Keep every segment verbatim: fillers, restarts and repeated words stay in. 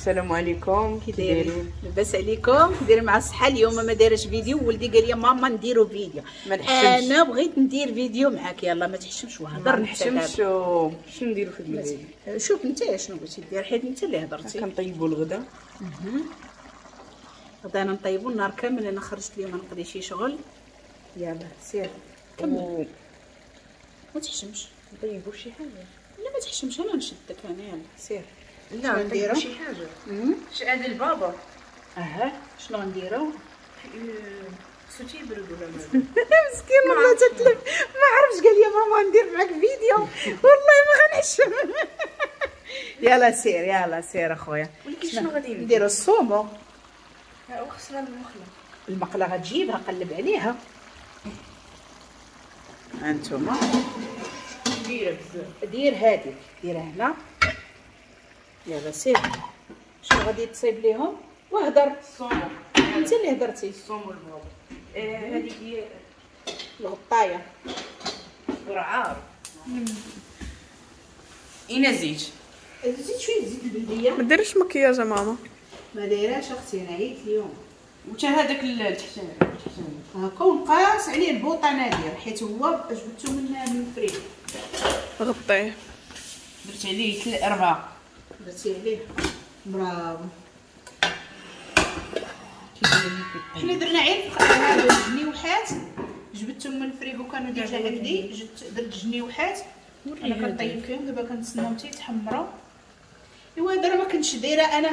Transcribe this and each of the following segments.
السلام عليكم، كي دايرين؟ لاباس عليكم؟ دايرين مع الصحة. اليوم ما دايرش فيديو، ولدي قال لي ماما نديرو فيديو. ما نحشمش، انا بغيت ندير فيديو معاك. يلا ما تحشمش وهضر. ما نحشمش. شنو نديرو في الفيديو؟ شوف انت شنو بغيتي دير، حيت انت اللي هضرتي. كنطيبوا الغدا. غدا انا نطيبو النهار كامل، انا خرجت اليوم نقضي شي شغل. يلا سير كمل، ما تحشمش. نطيبو شي حاجة؟ لا ما تحشمش، انا نشدك انا. يلا سير. لا نديرو شي حاجة. شحال البابا؟ اها شنو غنديرو؟ خصو تيبرد ولا مالو؟ مسكين والله تتلف، ما عرفتش. قال لي ماما ندير معاك فيديو، والله ما غنحشم. يلا سير، يلا سير اخويا. ولكن شنو غادي نديرو؟ ال saumon. وخصنا المقله. المقله غتجيبها، قلب عليها. هانتوما كبيرة بزاف. دير هاديك، ديرها هنا. يلا سير. شنو غادي تصيب ليهم؟ وهضر. ال saumon. انت اللي هضرتي. ال saumon البابا. هذيك هي الغطايه. رعار. اين زيت؟ زيت شوية زيت البلدية. ما ديريش مكياج ماما. ما دايراش اختي، انا عييت اليوم. وتا هذاك التحتاني هاكا ونقاس عليه البوطه نادر، حيت هو جبدته من من الفريك. غطيه. درت عليه أربعة. درتي عليه، برافو. حنا درنا غير هادو الجنيوحات، جبدتهم من الفريكو كانوا déjà عندي. درت جنيوحات انا كنطيب فيهم دابا، كنتسناهم حتى يتحمروا. ايوا هذا راه ما كنتش دايرة انا،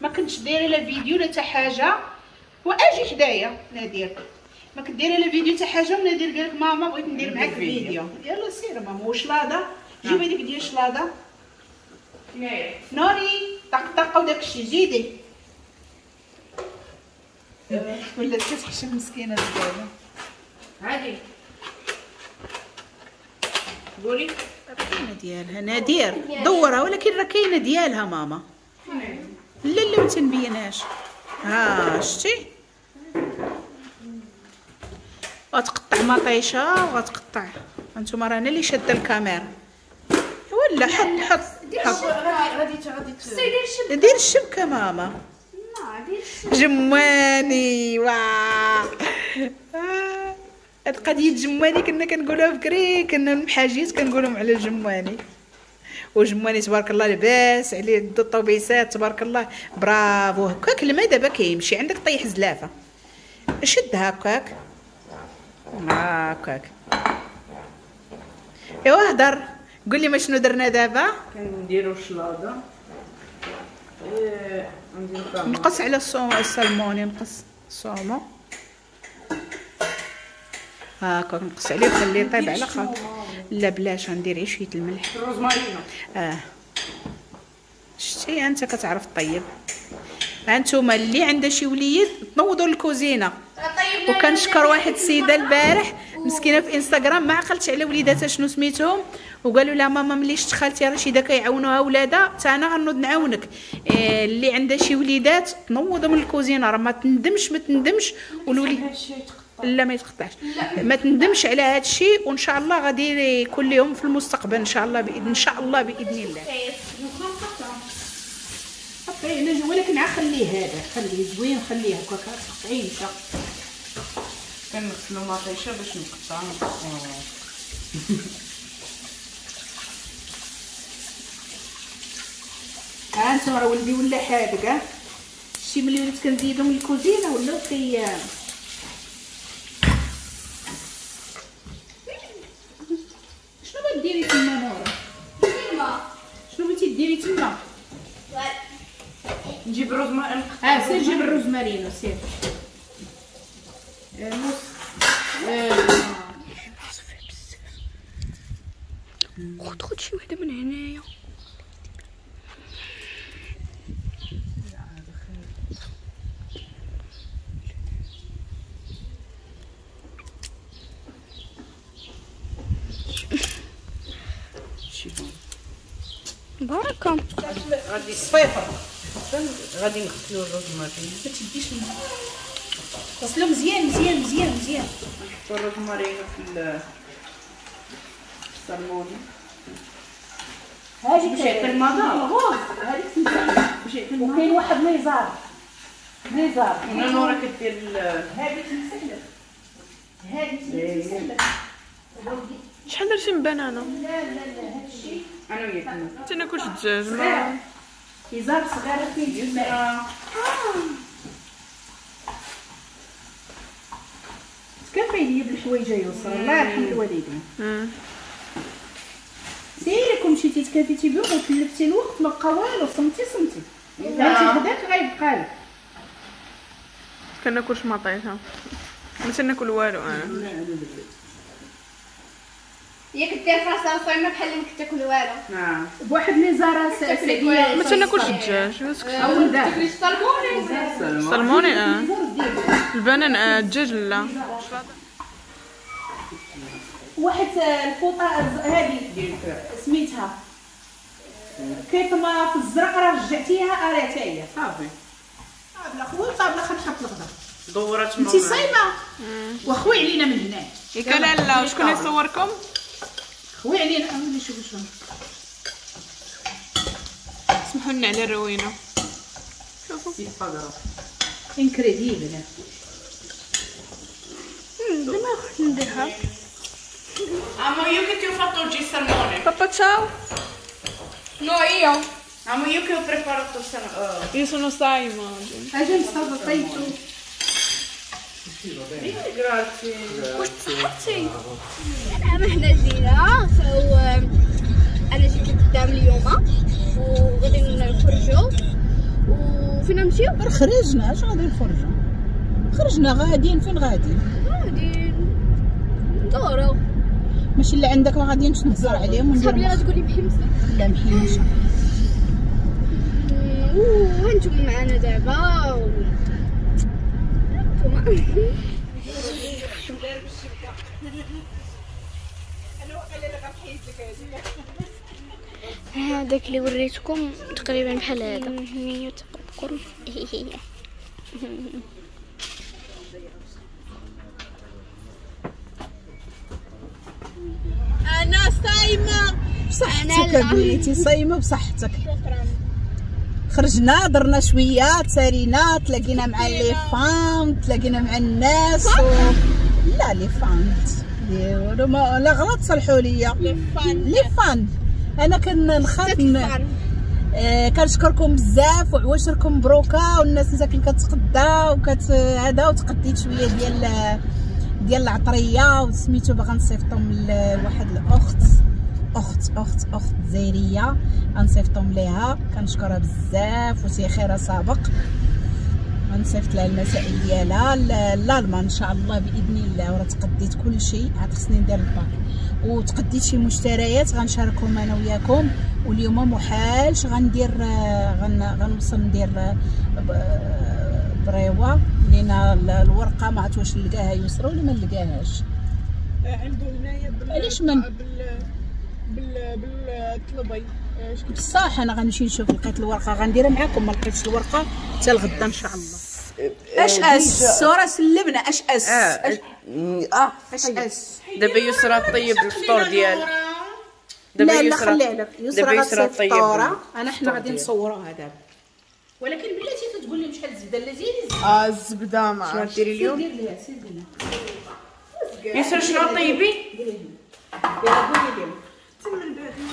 ما كنتش دايرة لا فيديو لا حتى حاجة. واجي حدايا نادر، ما كنت دايرة لا فيديو حتى حاجة، ونادر قال لك ماما بغيت ندير معاك فيديو. يلا سير ماما. وشلاضه، جيب هذيك ديال الشلاضه نوري طقطقة وداكشي زيدي. ولات كتحشم مسكينه دابا. عادي قولي كاينه ديالها نادر، دورها. ولكن راه كاينه ديالها ماما. لا لا ما تنبينهاش. ها شتي، غتقطع مطيشه وغتقطع. انتم راه انا اللي شاده الكاميرا. ولا حط حط حط. غادي غادي دير الشبكة ماما. جماني واه، هاد قضية جماني كنا كنقولوها بكري، كنا المحاجيات كنقولهم على الجماني. وجماني تبارك الله لاباس عليه، الطوبيسات تبارك الله، برافو. هكاك الماء دابا كيمشي عندك، طيح زلافه شد هكاك هكاك. ايوا هضر، قول لي ما شنو درنا دابا؟ كنديرو الشلاضه. ايه نديرو نقص على السلمون، نقص ال saumon هاكا، نقص عليه وخليه يطيب على خاطر. لا بلاش، غندير غير شوية الملح. الروزمارينو. اه شتي انت كتعرف طيب. انتوما اللي عندها شي وليد تنوضوا للكوزينه. وكنشكر واحد السيدة البارح مسكينه في انستغرام، ما عقلتش على وليداتها شنو سميتهم، وقالوا لها ماما ملي شفت خالتي رشيده كيعاونوها ولادها حتى انا غنوض نعاونك. إيه اللي عندها شي وليدات تنوضوا من الكوزينة، راه ما تندمش ما تندمش. والوليد لا ما يتقطعش، ما تندمش على هذا الشيء، وان شاء الله غادي يكون لهم في المستقبل ان شاء الله باذن ان شاء الله باذن الله. قطعية، ولكن عا خليه هذا، خليه زوين، خليه هكاك تقطعيه مشى. كنغسلو مطيشه باش نقطع. ها انتم راه ولدي ولا حادق. ها شتي ملي وليت كنزيدهم الكوزينة ولاو كي شنو بغيتي ديري تما نورا؟ شنو بغيتي ديري تما؟ نجيب الروزمارينو. اه سير جيب الروزمارينو سير. نص خد خد شي وحده من هنايا. بركة. غادي الصفيفر غادي نغسلو الروزمارينو. ما تديش الماء، غسلو مزيان مزيان مزيان مزيان. نحطو الروزمارينو في السلموني. هذيك باش يعطي المذاق. rose هذيك تمسح. وكاين واحد ليزار ليزار هنا نورا كدير هذه تمسح لك، هذه تمسح لك. شحال درتي من بنانه؟ لا لا لا هادشي انا وياك ما تناكلش الدجاج. ما إزار صغيرة فيه الماء. تكفي لي بالحوايج يا يسرا، الله يرحم الوالدين. سيري كون مشيتي تكافيتي بهم وتلفتي الوقت ما بقى والو، صمتي صمتي انت هداك غيبقى لك. كناكلش مطيشه، ما تناكل والو انا. ياك دير فراسها صايمه بحال اللي ما كتاكل والو. نعم بواحد ليزارة سعديه. ما تناكلش الدجاج. تاكلي السلموني؟ السلموني اه البنان اه الدجاج لا. واحد الفوطه هذه سميتها كيطمه في الزرق راه رجعتيها راه حتى هي صافي. طابله خويا طابله خنحط الغدا. دورات انت صايمه وخوي علينا من هنا. ياك لا لا وشكون يصوركم؟ خوي علينا. اولي شوفوا شنو. سمحوا لنا على الروينه. شوفوا incredibile. دابا نديرها. Amo, io che ti ho fatto oggi il salmone. Papà, ciao. No, io. Amo, io che ho preparato il salmone. Io sono Saima oggi. اجي مصطفى طيبتو. Grazie. واش تصحتي؟ انا حنا جينا so انا جيت لقدام اليوم وغادي نخرجوا. وفين نمشيو؟ خرجنا، اش غادي نخرجوا؟ خرجنا غاديين. فين غاديين؟ غاديين ندورو. ماشي اللي عندك ما غاديينش نهضر عليهم وندير. صحابي غتقولي محمسه. لا محمسه. وانتم معنا دابا و... انتم هذاك اللي وريتكم تقريبا بحال هذا. هي تقرب. انا صايمه بصحتك بنيتي، صايمه بصحتك. خرجنا درنا شوية، تسارينا، تلاقينا مع les fans، تلاقينا مع الناس و... لا les fans لا غلط صلحوا ليا les fans. انا كنخاف آه كنشكركم بزاف وعواشركم مبروكه، والناس مساكن كتقدا وكت هذا، وتقديت شوية ديال ديال العطريه وسميتو باغا نصيفطهم لواحد الاخت اخت اخت اخت جزائرية، غنصيفطهم ليها. كنشكرها بزاف وسي خيرها سابق. غنصيفط لها المسائل ديالها لالمان ان شاء الله باذن الله. وراه تقديت كل شيء، عاد خصني ندير الباك وتقديت شي مشتريات غنشاركهم انا وياكم. واليوم محالش غندير غن غنوصل ندير بريوه لينا الورقة ما عرفت واش نلقاها يسرى ولا ما نلقاهاش. عنده هنايا بال علاش من بال بال بالطلبي بصح انا غنمشي نشوف لقيت الورقة غنديرها معاكم، ما لقيتش الورقة حتى الغدا ان شاء الله. اش اس الصورة سلمنا اش اس اه اه اش اس. دابا يسرى طيب الفطور ديال دابا يسرى. لا لا خليها لك يسرى غتصيفط فطوره، انا حنا غادي نصوروها دابا. ولكن بلاتي تقول لي شحال الزبدة لا زيدي اه الزبدة ما شنو ديري اليوم؟ دير ليها سير ليها يسرى شنو طيبي؟ يلا قولي لهم.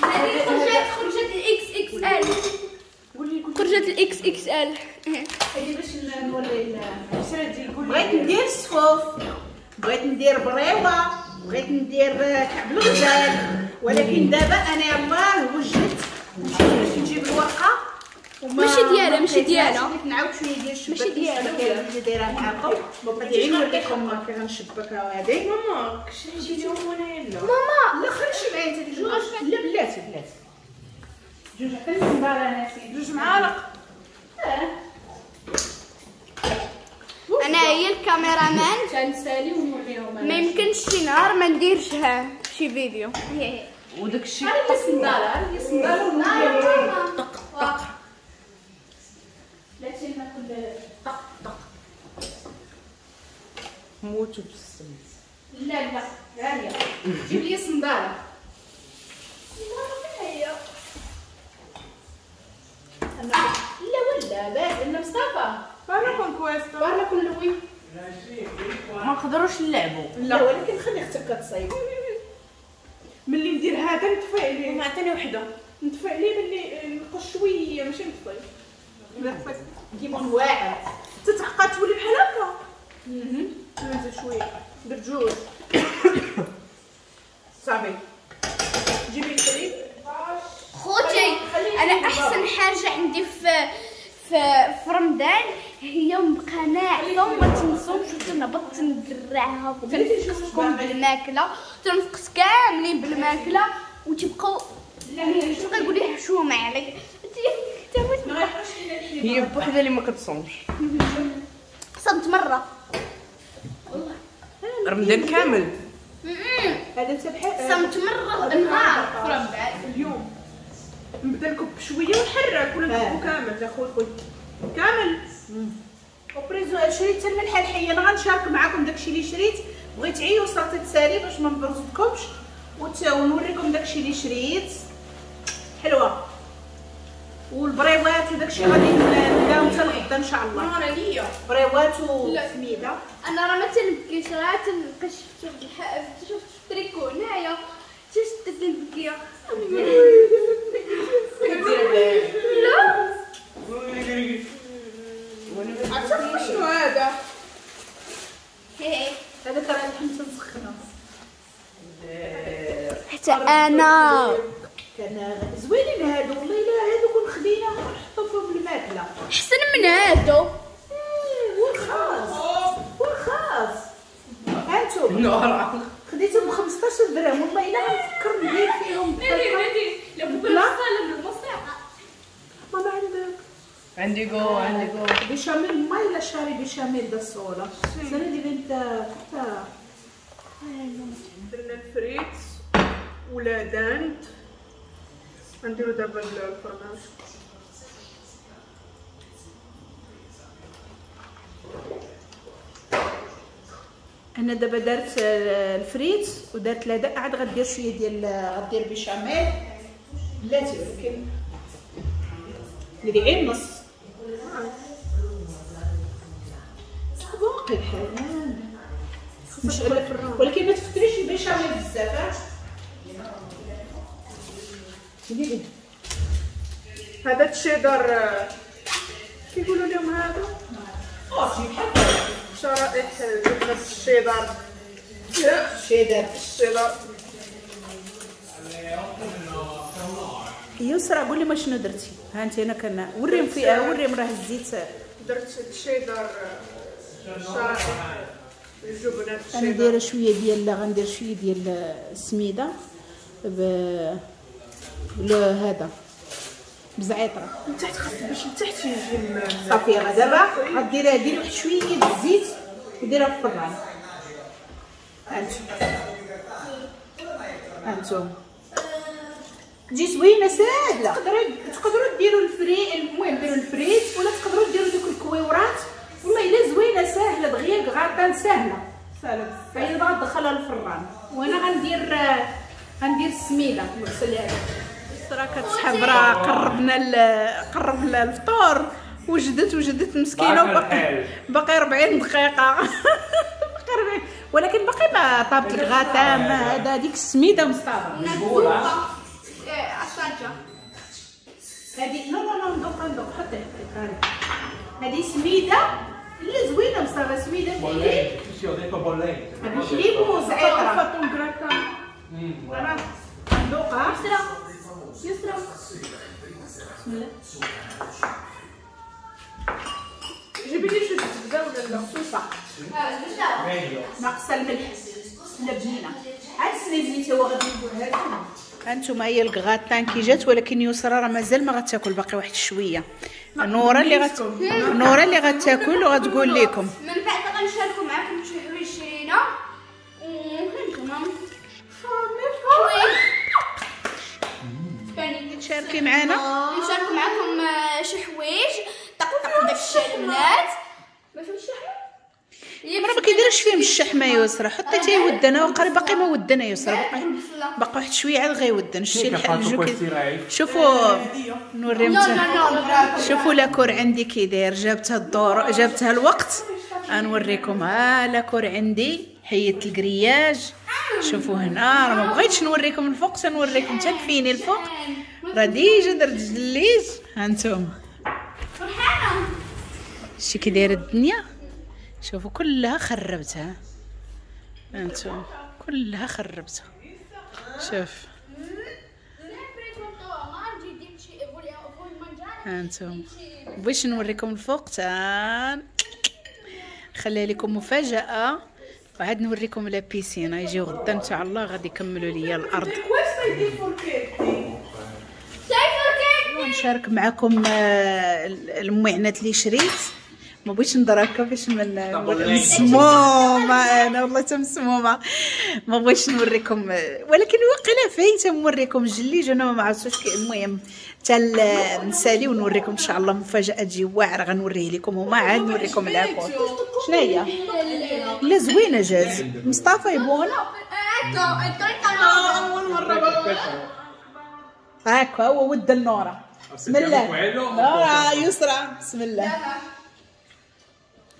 هذه خرجت خرجت الاكس اكس ال، خرجت الاكس اكس ال. هذه باش نوري بغيت ندير الصفوف، بغيت ندير بريوه، بغيت ندير كعب الغزال، ولكن دابا انا يلاه وجدت مشيت باش نجيب الورقة. ماشي ديالها ماشي ديالها، بغيت نعاود شوية ديال الشباك ماشي ديالها اللي دايرة معاكم. غادي نوريكم كي غنشبكها هذه. ماما كشري اليوم وانا لا ماما لا خرجي معايا انت جوج. لا بلاتي بلاتي جوج، عطيني النظارة ناسي جوج معالق. اه انا هي الكاميرامان تنسالي ونوريهم. ما يمكنش شي نهار ما نديرش ها شي فيديو. وداك الشيء هذه الصنداله، هذه الصنداله ونوريهم طق طق. بلاتي ناكل طق طق. موتوا بالسم. لا لا غالية جيب لي صنداله. صنداله فين هي؟ لا ولا باز ان مصطفى parla con questo parla con lui. ما نقدروش نلعبوا. لا ولكن خلي اختك كتصايب. ملي ندير هذا نطفي عليه. ما عطيني وحده نطفي عليه ملي نقص شوية ماشي نطفي. لا كيبون واعر تتعقد تولي بحال هكا. اها نزيد شوية درت جوج صافي. جيبي الفريد خوتي. انا احسن حاجة عندي في في في رمضان هي نبقى ناعسه وما تنصومش وتنهبط تندرعها وتنفقسكم بالماكله تنفقس كاملين بالماكله وتبقاو تبقى يقول لي حشومه عليك. هي بوحدها اللي ما كتصومش. صمت مرة والله رمضان كامل. هذا انت بحال صمت مرة نهار في رمضان. اليوم نبدا لكم بشوية ونحرك ولا نكبو كامل؟ لا خويا خويا كامل. ho preso شريت الملحة الحية. انا غنشارك معكم داكشي اللي شريت. بغيت عي وصلت تسالي باش ما نبرزطكمش ونوريكم داكشي اللي شريت. حلوة والبريوات وداكشي غادي نبداو حتى الغدا ان شاء الله. انا ليا بريوات وسميده. انا راه ما تنبكيش، راه تنبقى شفت واحد الحق شفت التريكو هنايا شفت تنبكي. لا عرفتي شنو هذا؟ هذا ترى اللحم تنسخنو حتى انا كان زوينين هادو والله. الا هادو كون خديناهم ونحطو فيهم الماكلة احسن من هادو. ورخاص ورخاص. هانتوما خديتهم ب خمسطاش درهم والله الا غنفكر ندير فيهم. نادي نادي لا بوكو ماما عندك عندي جو عندي جو béchamel mai lasciare béchamel da sola se no diventa tutta. درنا الفريت ولا dinde. غنديرو دابا الفرماج. انا دابا دارت الفريت ودارت la dinde، عاد غدير شوية ديال غدير بيشاميل بلاتي، ولكن ندير غير نص باقي الحال مش، ولكن ما تكثريش البيشاميل بزاف. هذا الشيدر كيقولوا لهم هذا بحال شرائح جبنة الشيدر. الشيدر الشيدر. يسرا قولي ما شنو درتي؟ ها انت انا كان وريهم في وريهم راه الزيت. درت الشيدر شرائح الجبنة الشيدر. انا دايرة شوية ديال غندير شوية ديال السميده ب هذا بزعيطره من تحت، خاص باش من تحت يجي صافي. دابا غديرها ديري واحد شوية ديال الزيت وديرها في الفران. هانتوما هانتوما تجي زوينة ساهله. تقدروا تقدروا ديروا الفري، المهم ديروا الفريت ولا تقدروا ديروا دوك الكويورات. والله الا زوينة ساهله دغيا، غاطان ساهله ساهله بزاف. هي دابا غندخلها للفران وانا غندير غندير السميده نغسلها. راه كتسحب راه قربنا قربنا الفطور. وجدت وجدت مسكينه وباقي باقي أربعين دقيقة باقي أربعين، ولكن باقي ما طابت الغاتا ما هذا. هذيك السميده مصطفى هذه no no no ندوق ندوق حطي حطي هذه سميده اللي زوينة مصطفى، سميده بالحليب بالحليب وزعتر. ندوقها يسرا يسرا بسم الله. جيبي لي شي زبدة ولا لا صوصه ناقصه الملح لا بنينه. عاد سني بنيتي هو غادي نقول هذا. هانتوما هي الكغاتان كي جات، ولكن يسرا راه مازال ما غتاكل، باقي واحد شوية. نوره اللي غت نوره اللي غتاكل وغتقول لكم من بعد غنشاركوا معكم شي حوايج شرينا. تشاركي معنا نشاركوا معكم شي حوايج طقطق داكشي البنات. ما فهمتش شي حاجة راه ما كيديرش كاش فيهم الشحمه يسرى، حطي حتى يودنا وقري باقي ما ودنا يسرى، باقي باقي واحد شوية عاد غيودن. شتي الجو شوفوا نوريهم، شوفوا la cour عندي كي داير، جابتها الدور جابتها الوقت. غنوريكم ها la cour عندي، حيدت ال grillage. شوفوا هنا راه ما بغيتش نوريكم الفوق، تنوريكم حتى الفيني الفوق راه déjà درت جليج. ها انتم شتي كي دايرة الدنيا، شوفوا كلها خربتها، انتم كلها خربتها. شوف انتم بغيتش نوريكم الفوق تا خليها لكم مفاجاة، وعاد نوريكم la piscine. يجيو غدا ان شاء الله غادي يكملوا ليا الارض. نشارك معكم المعينات اللي شريت، ما بغيتش نهضر هكا باش من مسمومة انا والله حتى مسمومة، ما بغيتش نوريكم، ولكن واقيلا فايته نوريكم الجليج انا ما عرفتش. المهم حتى نسالي ونوريكم ان شاء الله مفاجاة تجي واعرة غنوريه لكم هما، عاد نوريكم la cour. شنو هي؟ لا زوينة جاز مصطفى يبغونا اول مرة هاكا هو ود النوره. بسم الله نوره يسرى بسم الله.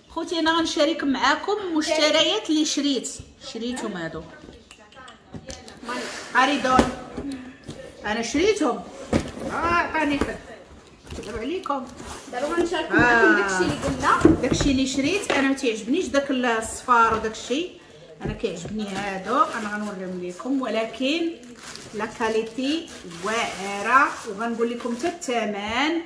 خوتي انا غنشارك معاكم المشتريات اللي شريت، شريتهم هادو اريدون انا شريتهم. اه عطاني خد دابا عليكم، دابا غنشارك معاكم داكشي اللي قلنا، داكشي اللي شريت. انا ما تيعجبنيش داك الصفار وداكشي، انا كيعجبني هادو، انا غنوريهم لكم، ولكن la qualité واعرة. وغنقول لكم حتى الثمن،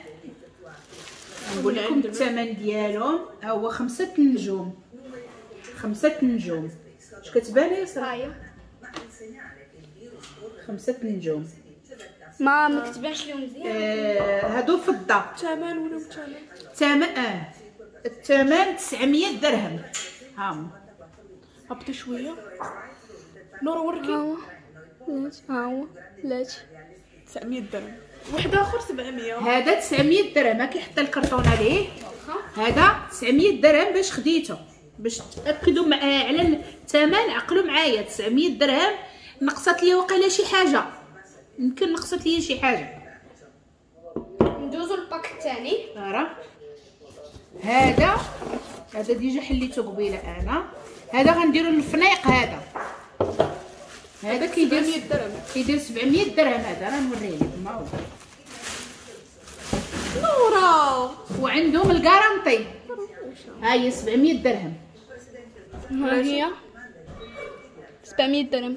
نقول لكم الثمن ديالهم. ها هو خمسة نجوم، خمسة نجوم. اش كتبان يا سرايا؟ خمسة نجوم. ما ما كتبانش لهم مزيان. آه هادو فضة. الثمن ولا الثمن؟ الثمن اه الثمن تسعمية درهم. ها هبطي شوية نور وركي. ها هو ها هو لاش تسعمية درهم، واحد اخر سبعمية. هذا تسعمية درهم، كيحط الكرتونه ليه. هذا تسعمية درهم باش خديته، باش تاكدوا معايا على الثمن، عقلوا معايا. تسعمية درهم نقصت لي وقيله شي حاجة، يمكن نقصت لي شي حاجة. ندوزو لل pack الثاني. راه هذا هذا déjà حليته قبيلة انا. هذا غنديرو للفنيق. هذا هذا كيدير سبعمية درهم، كيدير سبعمية درهم. هذا راه نوريه لكم ها هو نورا، وعندهم ال garantie. ها هي سبعمية درهم، ها هي سبعمية درهم.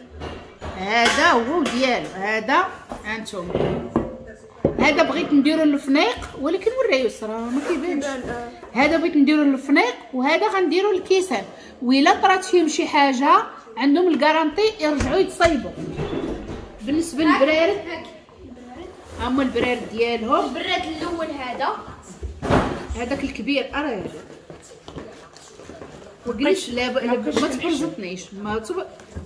هذا هو ديالو. هذا هانتوما، هذا بغيت نديرو للفنيق، ولكن وريه يسرى ما كيبانش. هذا بغيت نديرو للفنيق، وهذا غنديرو للكيسان. وإلا طرات فيهم شي حاجة عندهم ال garantie يرجعوا يتصايبوا. بالنسبة للبرارد، هما البرارد ديالهم. البراد الاول هذا، هذاك الكبير ارا وجلس. لا ما تبرزطنيش، ما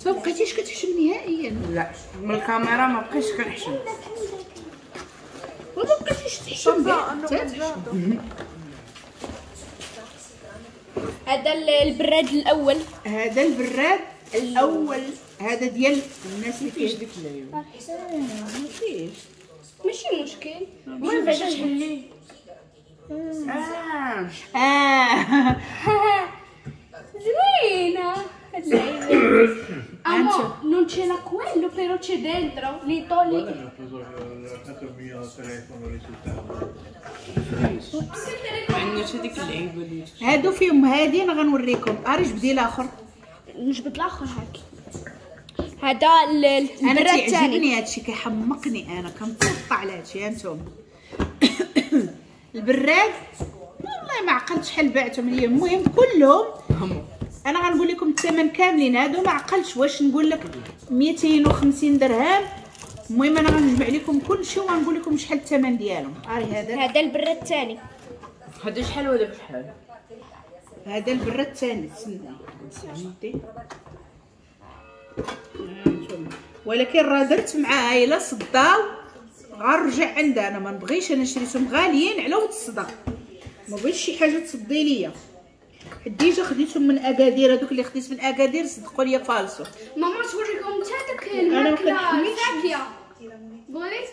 تبقيتيش كتحشم نهائيا. لا من الكاميرا ما بقيتش كنحشم، وما بقيتيش تحشم. هذا البراد الاول، هذا البراد الاول، هذا ديال الناس اللي فيش ديك اللعيبة. ما فيش ماشي مشكل. المهم بعدا تحلية. اه اه زوينة هاد اللعيبة. Amo, non c'era quello, però c'è dentro. Li togli. عندنا ديك اللعيبة اللي هادو فيهم. هادي انا غنوريكم. اري جبدي الاخر، نجبد الاخر هاك. هذا البراد انا الثاني. تيعجبني هادشي، كيحمقني انا، كنتقطع على هادشي. هانتوما البراد والله ما عقلت شحال بعتهم ليا. المهم كلهم انا غنقول لكم الثمن كاملين هادو، ما عقلتش واش نقول لك ميتين وخمسين درهم. المهم انا غنجمع لكم كلشي وغنقول لكم شحال الثمن ديالهم. اري هذا، هذا البراد الثاني. هذا شحال ولا بشحال؟ هذا البراد الثاني. تسنى تسنى، ولكن راه درت معاها الا صداو غنرجع عندها. انا ما نبغيش، انا شريتهم غاليين على ود الصدق، ما بغيتش شي حاجة تصدي ليا. déjà خديتهم من اكادير، هذوك اللي خديت من اكادير صدقوا لي فالسو. ماما توريكم حتى داك الماكلة الفاكهة. بغيت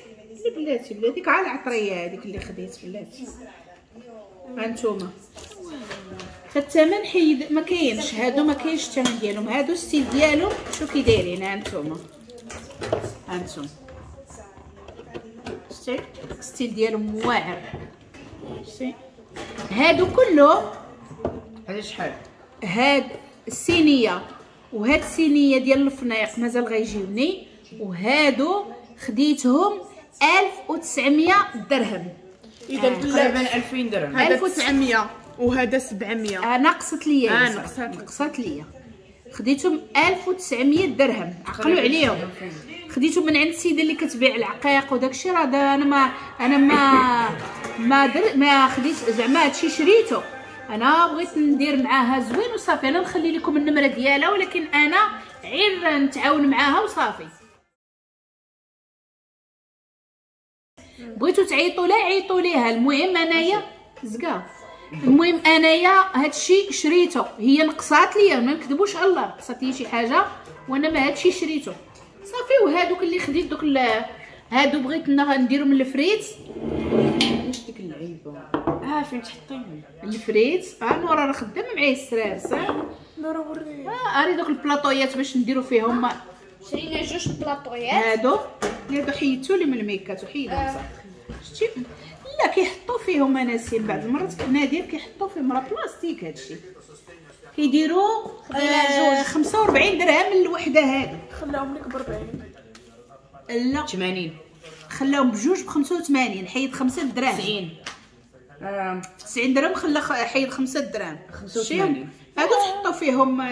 بلاتي بلاتي ديك على العطريه هذيك اللي خديت بلاتي. ها نتوما فالثمن حيد ما كاينش، هادو ما كاينش الثمن ديالهم، هادو style ديالهم شو كي دايرين. ها نتوما ها نتوما شتي style ديالهم واعر. شتي هادو كلهم هذا شحال؟ هاد الصينية وهاد الصينية ديال الفنيق مازال غيجيوني، وهادو خديتهم ألف وتسعمية درهم. اذا تقريبا ألفين درهم. هذا تسعمية وهذا سبعمية. آه نقصت ليا. آه نقصت نقصت ليا. خديتهم ألف وتسعمية درهم، عقلوا عليهم. خديتهم من عند السيدة اللي كتبيع العقيق وداكشي، راه انا ما انا ما ما در ما خديت زعما هادشي شريته، انا بغيت ندير معاها زوين وصافي. انا نخلي لكم النمرة ديالها، ولكن انا غير نتعاون معاها وصافي. بغيتو تعيطوا لها عيطوا ليها، المهم انايا زكا. المهم انايا هادشي شريته، هي نقصات ليا ما نكذبوش على الله، نقصات لي شي حاجة وانا ما هادشي شريته صافي. وهادوك اللي خديت دوك هادو بغيت نديرهم الفريت. واش ديك اللعيبة؟ اه فين تحطيهم الفريت؟ اه نورا راه خدامه معايا السرار صح؟ نورا وريني. اه اري دوك البلاطويات باش نديرو فيهم. شرينا جوج بلاطويات هادو هادو حيدتو لي من الميكات وحيدهم آه. صح شتي؟ لا كيحطوا فيهم اناسين بعض المرات نادر كيحطوا فيهم راه بلاستيك هادشي. كيديروا آه خمسة وأربعين درهم الوحدة هادي. خلاهم لك ب أربعين. لا ثمانين. خلاهم بجوج ب خمسة وثمانين، حيد خمسة دراهم. تسعين. تسعين درهم خلا حيد خمسة دراهم. خمسة وثمانين. هادو تحطوا فيهم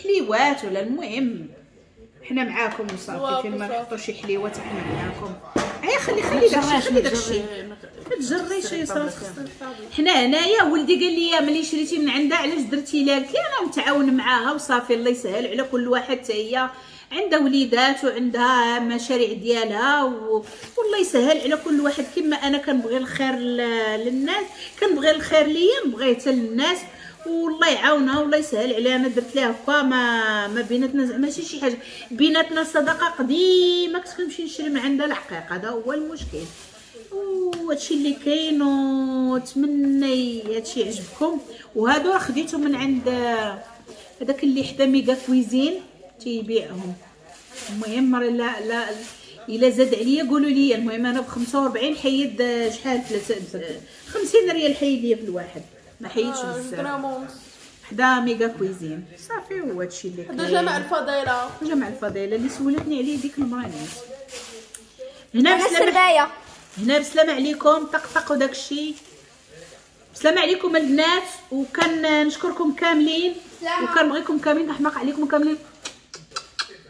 حليوات ولا المهم حنا معاكم وصافي. فين ما نحطوا شي حليوات حنا معاكم. هيا خلي خلي داكشي خلي داكشي ما تجريش يا صراحة. حنا هنايا ولدي قال لي ملي شريتي من عندها علاش درتي لها؟ قلت لها انا نتعاون معاها وصافي، الله يسهل على كل واحد. حتى هي عندها وليدات وعندها مشاريع ديالها و... والله يسهل على كل واحد. كما انا كنبغي الخير للناس، كنبغي الخير ليا نبغيه حتى للناس، والله يعاونها والله يسهل عليها. انا درت لها هكا ما ما بيناتنا زعما ماشي شي حاجة، بيناتنا صداقه قديمة. كنت كنمشي نشري من عندها الحقيقة، هذا هو المشكل. وهادشي اللي كاين، ونتمنى هادشي يعجبكم. وهادو راه خديتهم من عند هذاك اللي حدا ميغا كويزين تيبيعهم. المهم راه لا لا الا زاد عليا قولوا لي. المهم انا ب خمسة وأربعين حيد شحال خمسين ريال حيد ليا في الواحد، ما حيدش بزاف. حدا ميغا كويزين صافي. هو هادشي اللي كاين. حدا جامع الفضيلة. جامع الفضيلة اللي سولتني عليه ديك المرة نيت. هنا بسلامه، هنا بسلامه عليكم، طقطق وداكشي. بسلامه عليكم البنات، وكنشكركم كاملين وكنبغيكم كاملين، نحماق عليكم كاملين.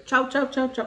تشاو تشاو تشاو تشاو.